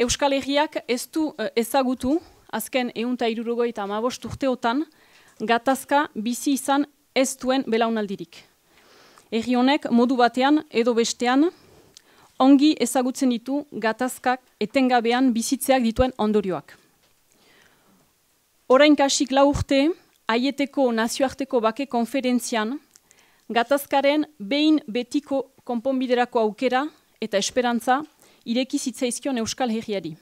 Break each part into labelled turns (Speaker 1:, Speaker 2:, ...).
Speaker 1: Euskal Herriak ez du ezagutu, azken 175 urteotan, gatazka bizi izan ez duen belaunaldirik. Herri honek modu batean edo bestean, ongi ezagutzen ditu gatazkak etengabean bizitzeak dituen ondorioak. Orain kasik 4 urte, Aieteko nazioarteko bake konferentzian, gatazkaren behin betiko konponbiderako aukera eta esperantza ireki zitzaizkion Euskal Herriari.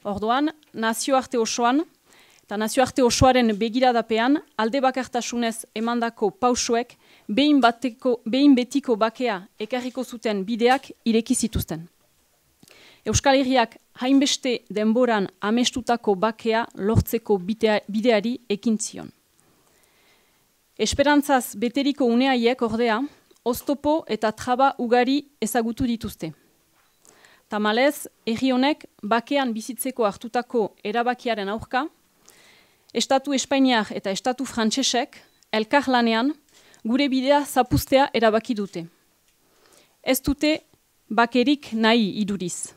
Speaker 1: Orduan, nazioarte osoan, eta nazioarte osoaren begiradapean, alde bakartasunez emandako pausoek behin betiko bakea ekarriko zuten bideak ireki zituzten. Euskal Herriak hainbeste denboran amestutako bakea lortzeko bideari ekin zion. Esperantzaz beteriko uneaiek ordea, oztopo eta traba ugari ezagutu dituzte. Tamalez, herri honek bakean bizitzeko hartutako erabakiaren aurka, Estatu Espainiar eta Estatu Frantsesek elkarlanean gure bidea zapuztea erabaki dute. Ez dute bakerik nahi iduriz.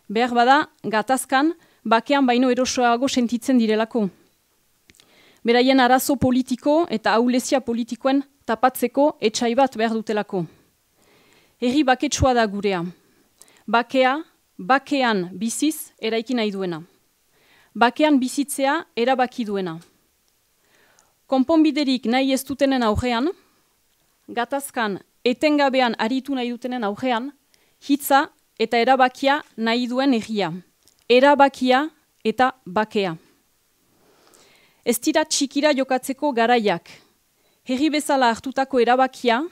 Speaker 1: Behar bada, gatazkan, bakean baino erosoago sentitzen direlako. Beraien arazo politiko eta ahulezia politikoen tapatzeko etxai bat behar dutelako. Herri baketsua da gurea. Bakea, bakean biziz eraiki nahi duena. Bakean bizitzea erabaki duena. Konponbiderik nahi ez dutenen aurrean, gatazkan etengabean aritu nahi dutenen aurrean, hitza eta erabakia nahi duen herria. Erabakia eta bakea. Ez dira txikira jokatzeko garaiak. Herri bezala hartutako erabakia,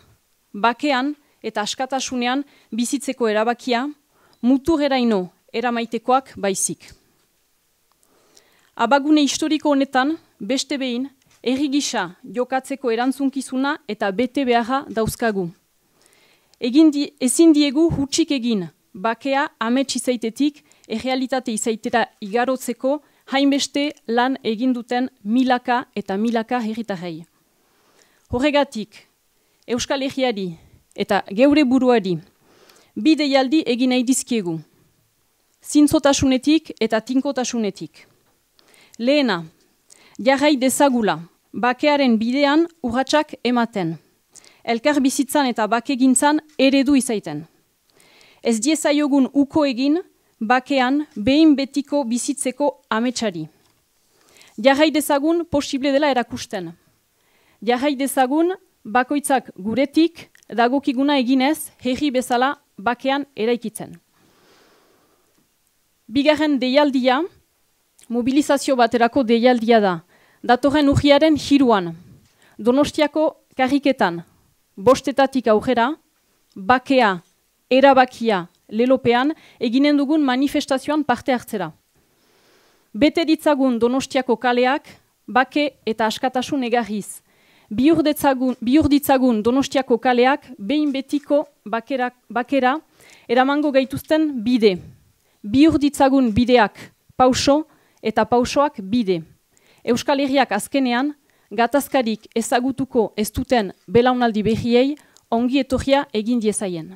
Speaker 1: bakean eta askatasunean bizitzeko erabakia, muturreraino eramaitekoak baizik. Abagune historiko honetan, beste behin, herri gisa jokatzeko erantzunkizuna eta bete beharra dauzkagu. Ezin diegu hutsik egin, bakea amets izaitetik errealitate izaitera igarotzeko hainbeste lan egin duten milaka eta milaka herritarrei. Horregatik, Euskal Herriari eta geure buruari bi deialdi egin nahi dizkiegu. Zintzotasunetik eta tinkotasunetik. Lehena, jarrai dezagula, bakearen bidean urratsak ematen. Elkar bizitzan eta bakegintzan eredu izaiten. Ez diezaiogun uko egin, bakean behin betiko bizitzeko ametsari. Jarrai dezagun posible dela erakusten. Jarrai dezagun bakoitzak guretik dagokiguna eginez herri bezala bakean eraikitzen. Bigarren deialdia, mobilizazio baterako deialdia da. Datorren urriaren 3an, Donostiako karriketan, 5etatik aurrera, bakea, erabakia, lelopean, eginen dugun manifestazioan parte hartzera. Bete ditzagun Donostiako kaleak, bake eta askatasun egarriz. Bihur ditzagun Donostiako kaleak, behin betiko bakera, eramango gaituzten bide. Bihur ditzagun bideak pauso eta pausoak bide. Euskal Herriak azkenean, gatazkarik ezagutuko ez duten belaunaldi berriei ongi etorria egin diezaien.